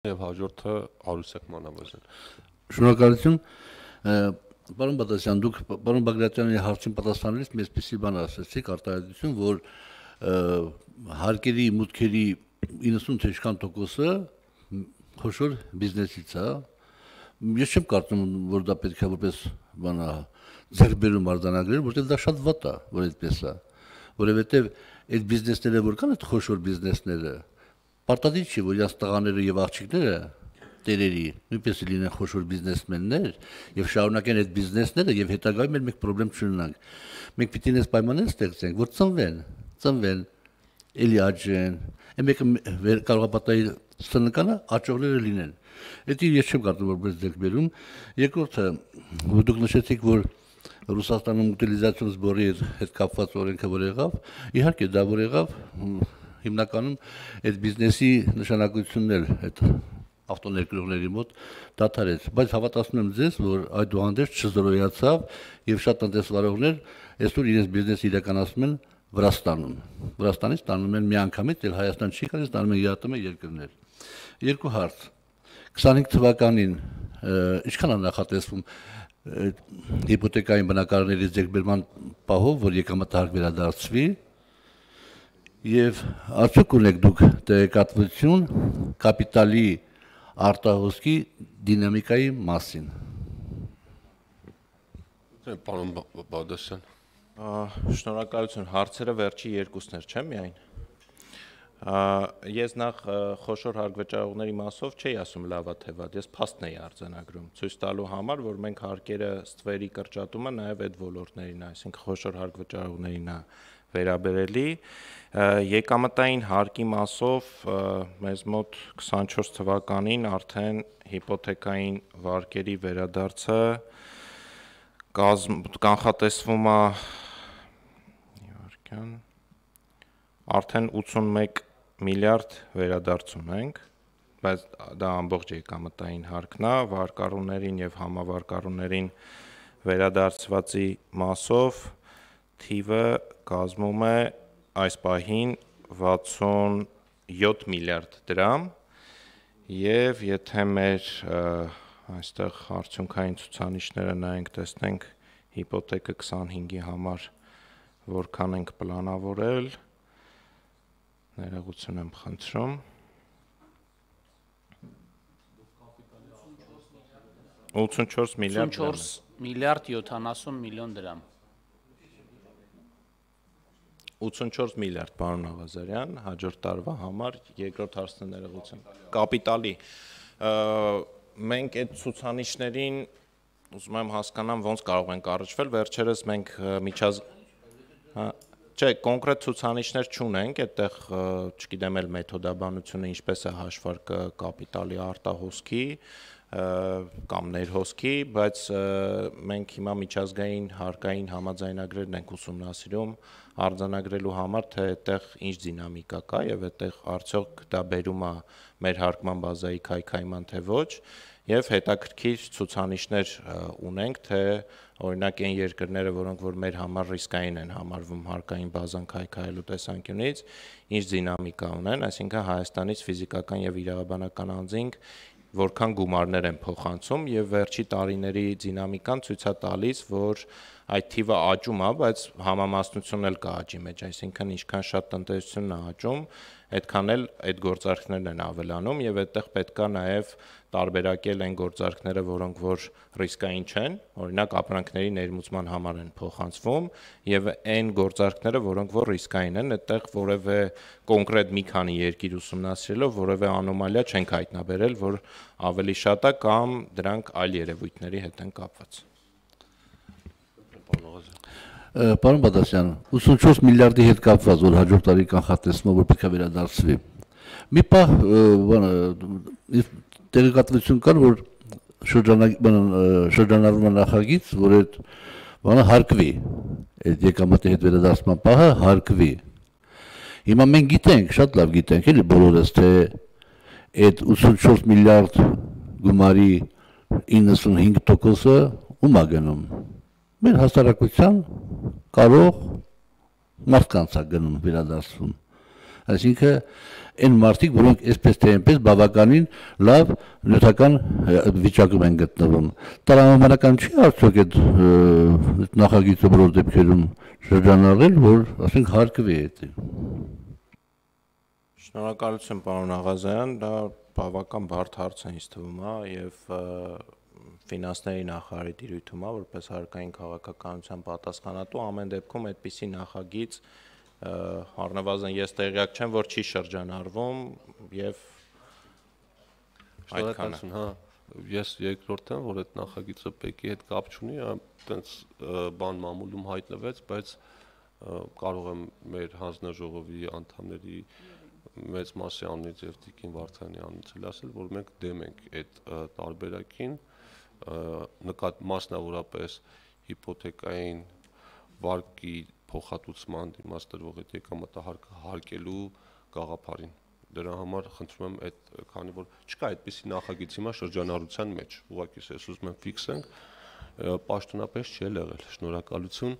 եւ հաջորդը Արուսեկ Մանավազյան։ Շնորհակալություն։ Պարոն Բադասյան, դուք պարոն Բագրատյանի հարցին պատասխանելիս մեզպիսի բան ասացիք, արտահայտություն, որ հարկերի մուտքերի 90 թե ինչքան տոկոսը խոշոր բիզնեսից է։ Ես չեմ կարծում, որ դա պետք է որպես բան ձեռքբերում արձանագրել, որովհետև դա շատ վատ է, որ այդպես է, որովհետև այդ բիզնեսները որ կան, այդ խոշոր բիզնեսները, պարտադիր չի, որ իրաց տղաները եւ աղջիկները տերերի նույնպես լինեն խոշոր բիզնեսմեններ եւ շարունակեն այդ բիզնեսները եւ հետագայում մենք խնդրեմ չունենանք։ Մենք պիտի նես պայմաններ ստեղծենք, որ ծնվեն, էլի աճեն, մեկը կարող է պատահի սնկանը աճողները լինեն։ Դա ես չեմ կարծում որպես ձեռքբերում։ Երկրորդը, դուք նշեցիք, որ Ռուսաստանում ուտիլիզացիոն սբորի հետ կապված օրենքը որ եղավ, իհարկե դա որ եղավ, հիմնականում այդ բիզնեսի նշանակությունն էլ այդ ավտոներկրողների մոտ դադարեց, բայց հավատացնում եմ ձեզ, որ այդուհանդերձ չզրոյացավ եւ շատ տնտեսվարողներ այսօր իրենց բիզնեսը իրականացնում են Վրաստանից տանում են միանգամից, էլ Հայաստան չի գալիս, տանում են ԵԱՏՄ երկրներ։ Երկու հարց։ 25 թվականին ինչքան է նախատեսվում հիպոթեկային բնակարանների ձեռքբերման պահով, որ եկամտահարկ վերադարձվի, եւ արդյոք ունեք դուք տեղեկատվություն կապիտալի արտահոսքի դինամիկայի մասին։ Պարոն Բադասյան։ Շնորհակալություն, հարցերը վերջի երկուսներ չէ՞ միայն։ Ես նախ խոշոր հարկվճարողների մասով չէի ասում լավա թե վատ, ես փաստն էի արձանագրում, ցույց տալու համար, որ մենք հարկերը ստվերի կրճատումը նաև այդ ոլորտներին, այսինքն խոշոր հարկվճարողներին է վերաբերելի։ Եկամտային հարկի մասով մեզ մոտ 24 թվականին արդեն հիպոթեկային վարկերի վերադարձը կանխատեսվում է արդեն 81 միլիարդ վերադարձ ունենք, բայց դա ամբողջ եկամտային հարկն է, վարկառուներին եւ համավարկառուներին վերադարձվածի մասով թիվը կազմում է այս պահին 67 միլիարդ դրամ եւ եթե մեր այստեղ արդյունքային ցուցանիշները նայենք, տեսնենք հիպոթեկը 25-ի համար որքան ենք պլանավորել, ներողություն եմ խնդրում, 84 միլիարդ 70 միլիոն դրամ։ 84 միլիարդ, պարոն Աղազարյան, հաջորդ տարվա համար, երկրորդ հարցն ներողություն։ Կապիտալի։ Մենք այդ ցուցանիշներին ուզում եմ հասկանամ ոնց կարող ենք առնչվել, վերջերս մենք Չէ, կոնկրետ ցուցանիշներ չունենք, այդտեղ չգիտեմ էլ մեթոդաբանությունը ինչպես է հաշվարկը կապիտալի արտահոսքի կամ ներհոսքի, բայց մենք հիմա միջազգային հարկային համաձայնագրերն ենք ուսումնասիրում արձանագրելու համար, թե այդտեղ ինչ դինամիկա կա եւ այդտեղ արդյոք դա բերում է մեր հարկման բազայի քայքայման թե ոչ, եւ հետաքրքիր ցուցանիշներ ունենք, թե օրինակ այն երկրները, որոնք որ մեր համար ռիսկային են համարվում հարկային բազան քայքայելու տեսանկյունից, ինչ դինամիկա ունեն, այսինքն Հայաստանից ֆիզիկական եւ իրավաբանական անձինք որքան գումարներ են փոխանցում եւ վերջի տարիների դինամիկան ցույց է տալիս, որ այդ թիվը աճում է, բայց համամասնությունն էլ կա աճի մեջ, այսինքն ինչքան շատ տնտեսությունն է աճում, այդքան էլ այդ գործարքներն են ավելանում եւ այդտեղ պետք է նաեւ տարբերակել այն գործարքները, որոնք որ ռիսկային չեն, օրինակ ապրանքների ներմուծման համար են փոխանցվում եւ այն գործարքները, որոնք որ ռիսկային են, այդտեղ որևէ կոնկրետ մի քանի երկիր ուսումնասիրելով որևէ անոմալիա չենք հայտնաբերել, որ ավելի շատ է կամ դրանք այլ երևույթների հետ են կապված։ Պարոն Բադասյան, 84 միլիարդի հետ կապված, որ հաջորդ տարի կանխատեսվում է, որ պետք է վերադարձվի։ Մի պահ տեղեկատվություն կար, որ շրջանառվում է նախագիծ, որ այդ բանը հարկվի, այդ եկամտի հետ վերադարձման պահը հարկվի։ Հիմա մենք գիտենք, շատ լավ գիտենք, էլի բոլորս, թե այդ 84 միլիարդ գումարի 95%-ը ում է գնում։ Մեր հասարակության կարող մարդկանց է գնում վերադարձվում։ Այսինքն այն մարդիկ, որոնք այսպես թե այնպես բավականին լավ նյութական վիճակում են գտնվում։ Տրամաբանական չի արդյոք այդ նախագիծը բոլոր դեպքերում շրջանառել, որ ասենք հարկվի այդ։ Շնորհակալություն պարոն Աղազարյան, դա բավական բարդ հարց է ինձ թվում, եւ ֆինանսների նախարարի դիրույթում է, որպես հարկային քաղաքականության պատասխանատու, ամեն դեպքում այդպիսի նախագիծ առնվազն ես տեղյակ չեմ, որ չի շրջանառվում եւ Շնորհակալություն, հա, ես երկրորդ եմ, որ այդ նախագիծը ՊԵԿ-ի հետ կապ չունի, այտենց բան մամուլում հայտնվեց, բայց կարող եմ մեր հանձնաժողովի անդամների մեծ մասի անունից եւ Տիկին Վարդանի անունից ասել, որ մենք դեմ ենք այդ տարբերակին, մասնավորապես հիպոթեկային վարկի փոխհատուցման դիմացտրվող այդ եկամտահարկը հարկելու գաղափարին։ Դրա համար խնդրում եմ այդ քանի որ չկա այդպիսի նախագիծ հիմա շրջանառության մեջ, ուղղակի ես ուզում եմ ֆիքսենք, պաշտոնապես չի եղել։ Շնորհակալություն։